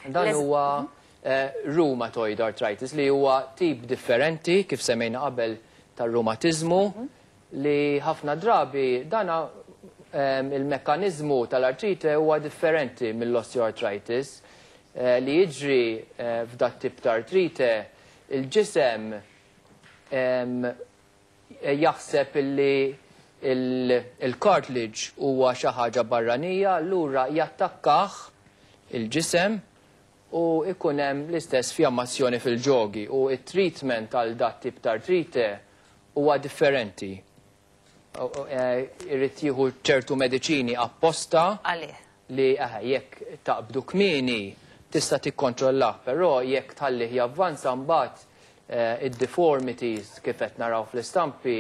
Dan huwa rheumatoid arthritis li huwa tip differenti kif semmejna qabel tar-rumatiżmu li ħafna drabi dana il-mekkaniżmu tal-artrite huwa differenti mill-osteoarthritis. Li jiġri f'dat tip ta' artrite il-ġisem jaħseb illi il-cartilage huwa xi ħaġa barranija, allura jattakkah il-ġisem u ikun hemm l-istess fjammazzjoni fil-ġogi u it-treatment għal dat tip ta' artrite huwa differenti. Irid jieħu ċertu mediċini apposta Għalih. li jekk taqbdu kmieni tista' tikkontrollah, però jekk tħallih javvanza mbagħad id-deformities kif qed naraw fl-istampi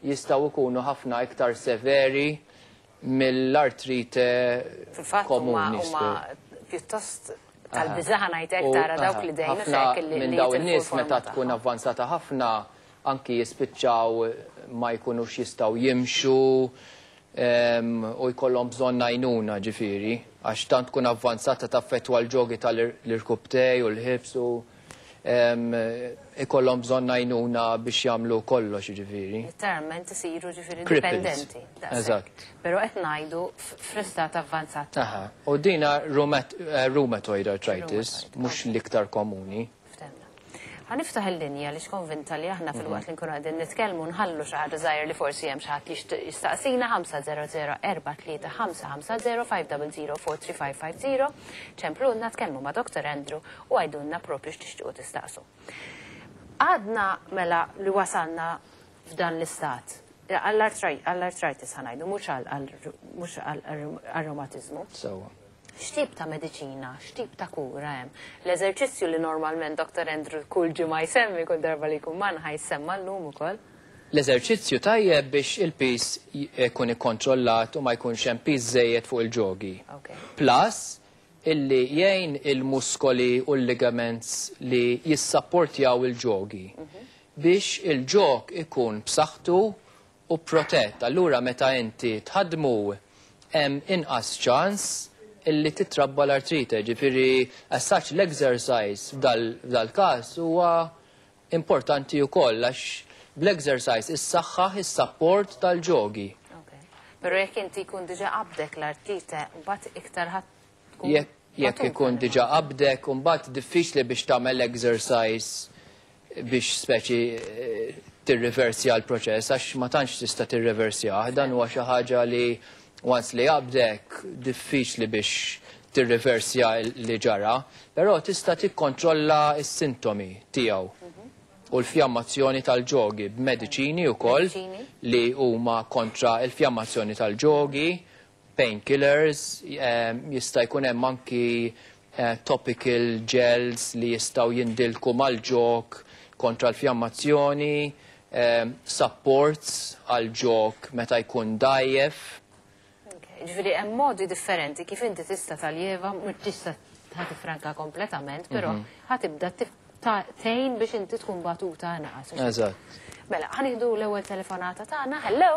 jistgħu jkunu ħafna iktar severi mill-artrite Fil-fatt huma komuni. Huma pjuttost tal-biża' ngħidlek tara dawk li dejjem ħafna hekk li minn li daw jitilfu in-nies l-forma meta tkun tagħhom. avvanzata ħafna anki jispiċċaw ma jkunux jistgħu jimxu u jkollhom bżonn għajnuna ġifieri għax tant tkun avvanzata taffettwa l-ġogi tal-irkubtej u l-ħibs u ikollhom bżonn għajnuna biex jagħmlu kollox ġifieri. Literalment isiru ġifieri Cripples. dipendenti. Daqshekk. Eżatt. Però qed ngħidu fl-istat avvanzat. Aha. U dina rheumatoid arthritis, Rheumatoid, mhux l-iktar komuni. Ftehmna. Ħa niftaħ il-linja li konvinta li aħna fil-waqt li nkunu qegħdin nitkellmu nħallu xi ħaġa żgħir li forsi hemm xi ħadd jixtieq jistaqsina 500 43550 500 43550 ċemplulna tkellmu ma' Dr. Andrew u għidulna propju x'tixtiequ tistaqsu. Għadna mela li wasalna f'dan l-istat. Għall-arthritis ħa ngħidu, mhux għall-reumatizmu. Sewwa. X'tip ta' mediċina, x'tip ta' kura hemm? L-eżerċizzju li normalment Dr. Andrew kull ġimgħa jsemmi kull darba li jkun magħna ħa jsemma llum ukoll. L-eżerċizzju tajjeb biex il-piż jkun ikkontrollat u ma jkunx hemm piż żejjed fuq il-ġogi. Plus, illi jgħin il-muskoli u l-ligaments li jissapportjaw il-ġogi biex il-ġog ikun b'saħħtu u protett. Allura meta inti tħaddmu hemm inqas ċans illi titrabba l-artrite. Ġifieri as such l-exercise f'dal-każ huwa importanti wkoll għax bl-exercise issaħħaħ is-support tal-ġogi. Però jekk inti jkun diġà qabdek l-artrite, mbagħad iktar ħadd tkun Jekk matuta ikun li diġà qabdek, mbagħad diffiċli biex tagħmel exercise biex speċi tirriversja l-proċess, għax ma tantx tista' tirriversjah. Dan huwa xi ħaġa li once li qabdek diffiċli biex tirriversja li ġara, però tista' tikkontrolla s-sintomi tiegħu u l-fjammazzjoni tal-ġogi b'mediċini wkoll Mediċini. li huma kontra l-fjammazzjoni tal-ġogi, painkillers, jista' jkun hemm anki topical gels li jistgħu jindilku mal-ġog kontra l-fjammazzjoni, supports għal-ġog meta jkun dajjef. Ġifieri hemm modi differenti kif inti tista' taljeva, mhux tista' ħa tifranka kompletament, però ħa tibda tgħin biex inti tkun batuta inqas. Eżatt. Mela, ħa nieħdu l-ewwel telefonata tagħna. Hello.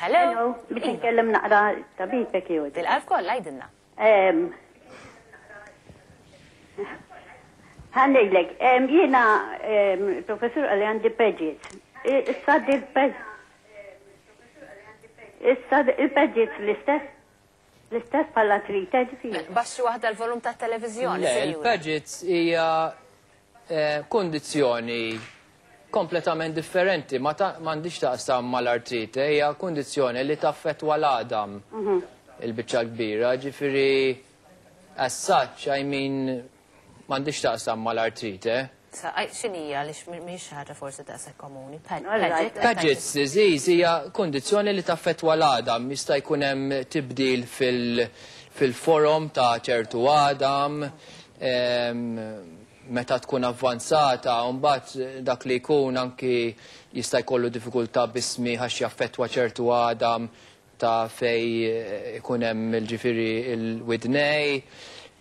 Hello. Hello, biex nkellem naqra tabib jekk jogħġbok. Bil-qalb kollha għidilna. Ħa ngħidlek, jiena professur qalli għandi Paget's. Issa il-Paget's l-istess bħala artrite ġifieri. Baxxi waħda l-volum tat-televiżjoni, Le, sinjura. il-Paget's hija kondizzjoni kompletament differenti, ma m'għandix taqsam mal-artrite, hija kondizzjoni li taffettwa l-għadam il-biċċa kbira, ġifieri as such, I mean, m'għandix taqsam mal-artrite. Sa, x'inhija li mhix ħaġa forsi daqshekk komuni? All right. Paget, Paget's disease hija kondizzjoni li taffettwa l-għadam, jista' jkun hemm tibdil fil-forom ta' ċertu għadam, meta tkun avvanzata, u mbagħad dak li jkun anki jista' jkollu diffikultà bismi għax jaffettwa ċertu għadam ta' fej ikun hemm il-ġifieri il-widnej.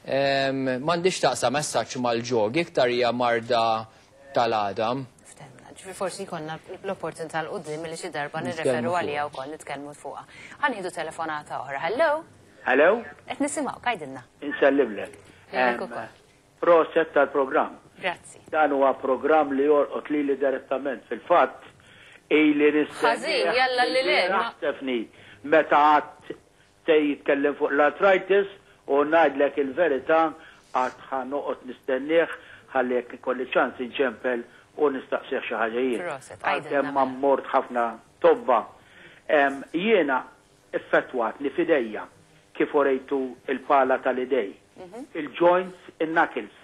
M'għandix taqsam messaġġ mal-ġogi, iktar hija marda tal-għadam. Ftehmna, ġifieri forsi jkollna l-opportunità l quddiem li xi darba Nitkellmu nirreferu fuqha. għaliha wkoll nitkellmu fuqha. Ħa nieħdu telefonata oħra. Hello? Hello? Qed nisimgħu, għidilna. Insellimlek. Lilek ukoll. Proset tal-programm. Grazzi. Dan huwa programm li jolqot lili direttament. Fil-fatt, ili nistennieh. Ħażin, jalla li le, ma. Stephanie, meta għad se jitkellem fuq l-arthritis u ngħidlek il-verità għad ħa noqgħod nistennieh ħalli jekk ikolli ċans inċempel u nistaqsih xi ħaġa jien. Proset, għidilna Għalkemm ma mela. mort ħafna tobba. Jiena effettwatni f'idejja kif urejtu il-pala tal-idej. Il-joints, in-knuckles.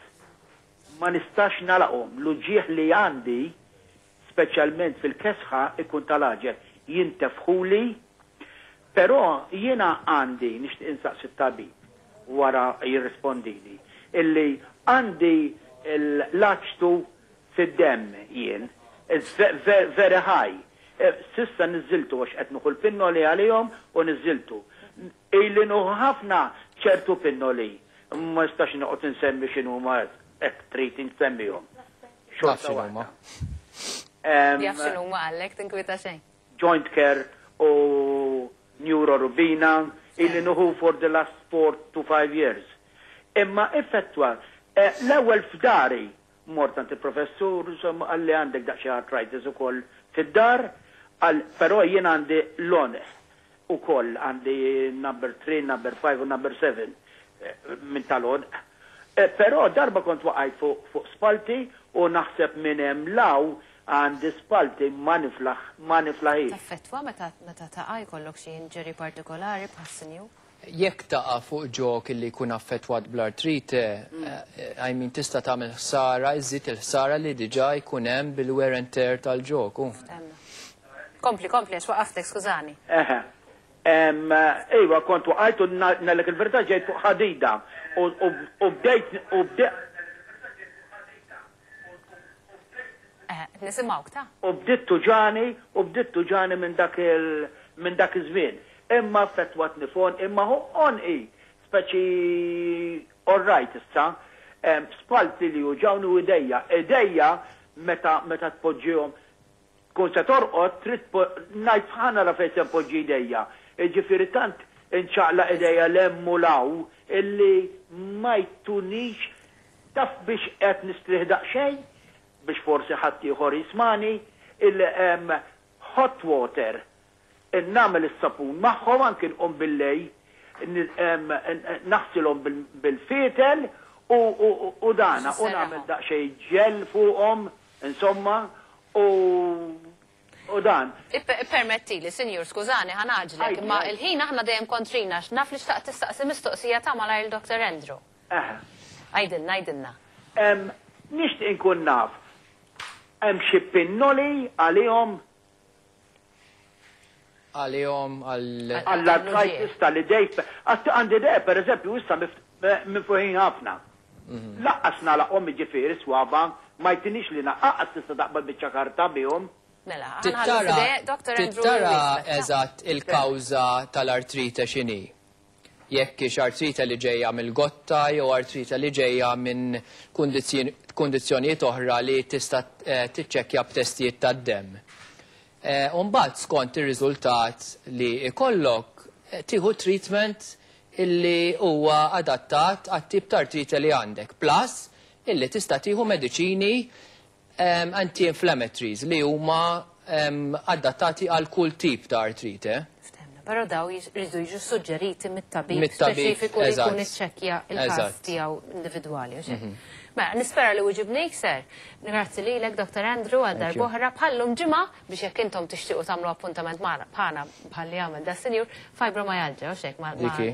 Ma nistax nagħlaqhom. L-uġigħ li għandi, speċjalment fil-kesħa, ikun tal-għaġeb. Jintefħuli, però jiena għandi, nixtieq insaqsi t-tabib wara jirrispondili, illi għandi l-aċtu fid-demm jien, it's very high. S'issa niżżiltu għax qed nieħu l-pinnoli għalihom u niżżiltu. Ili nieħu ħafna ċertu pinnoli. Ma nistax noqgħod insemmi x'inhuma hekk trid insemmihom. Taf Xorta x'inhuma. waħda. Jaf x'inhuma għallek, tinkwita xejn. Joint Care u Neurorubina ili nieħu for the last 4 to 5 years. Imma effettwa, l-ewwel f'dari mort għand il-professur, insomma, qalli għandek daqsxejn arthritis ukoll fid-dar, għal però jien għandi l-għonq ukoll għandi number 3, number 5 u number 7 minn tal-għonq. Però darba kont waqajt fuq spalti u naħseb minn hemm 'l hawn għandi spalti ma niflaħ ma niflaħix. Taffettwa meta taqa' jkollok xi injury partikolari bħas-sinjur? Jekk taqa' fuq ġog li jkun affettwat bl-artrite, I mean tista' tagħmel ħsara, iżid il-ħsara li diġà jkun hemm bil-wear and tear tal-ġog. Temna. Kompli, kompli, għax waqaftek, skużani. Eħe. Iva, kont waqajt u ngħidlek il-verità ġejt fuq ħadida u bdejt u bdejt Nisimgħuk ta' u bdiet tuġgħani u bdiet tuġgħani minn dak iż-żmien. Imma affettwatni fon, imma hu għonqi speċi all right issa, spalti li juġgħuni u idejja. Idejja meta tpoġġihom tkun se torqod trid ngħid ħa nara fejn se npoġġi idejja. Ġifieri tant inċaqlaq idejja 'l hemm u 'l hawn illi ma jtunix taf biex qed nistrieħ daqsxejn biex forsi ħadd ieħor jismani il-hot water nagħmel is-sapun magħhom anki nqum billejl naħsilhom bil-fietel u dana u nagħmel daqsxejn ġel fuqhom insomma u dan. Permetti li, sinjur, skużani, ħa ngħaġġlek, imma il-ħin aħna dejjem kontrina, naf li xtaqt tistaqsi mistoqsija ta' malajr Dr. Andrew. Għidilna, għidilna. Nixtieq inkun naf, hemm xi pinnoli għalihom? Għalihom għal. Għall-arthritis tal-idej. Għandi idej, per eżempju, issa minfuħin ħafna. Lanqas nagħlaqhom ġifieri swaba, ma jtinix li naqqas tista' taqbad biċċa karta bihom. Mela, ħa nħallu Dr. Andrew. Tittara eżatt il-kawża tal-artrite x'inhi. Jekk hix artrite li ġejja mill-gotta jew artrite li ġejja minn kundizzjonijiet oħra li tista' tiċċekkja b'testijiet tad-demm. Umbagħad skont ir-riżultat li ikollok tieħu treatment illi huwa adattat għat-tip ta' artrite li għandek. Plus illi tista' tieħu mediċini anti-inflammatories li huma adattati għal kull tip ta' artrite. Ftehmna, però daw jridu jiġu suġġeriti mit-tabib Mit-tabib, speċifiku li jkun iċċekkja il-każ Eżatt. tiegħu individwali. U xejn. Mela, nispera li weġibnik, sir. Grazzi lilek, Dr. Andrew, għal Thank you. darb'oħra bħallum ġimgħa biex jekk intom tixtiequ tagħmlu appuntament magħna bħana bħalli għamel da sinjur fibromyalgia, u xek ma' Diki.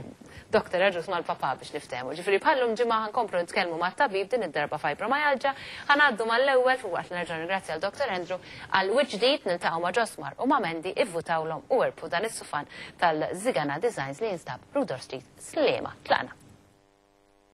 Dr. Agius mal-papa biex niftehmu. Ġifieri bħallum ġimgħa ħa nkomplu nitkellmu mat-tabib din id-darba fibromyalgia, ħa ngħaddu mal-ewwel fuq waqt li nerġa' nirringrazzja l Dr. Andrew għal wiċċ ġdid niltaqgħu ma' Ġosmar u ma' Mendy ivvutawlhom u irbħu dan is-sufan tal-Zigana Designs li jinstab Rudolf Street, Sliema. Tlaqna.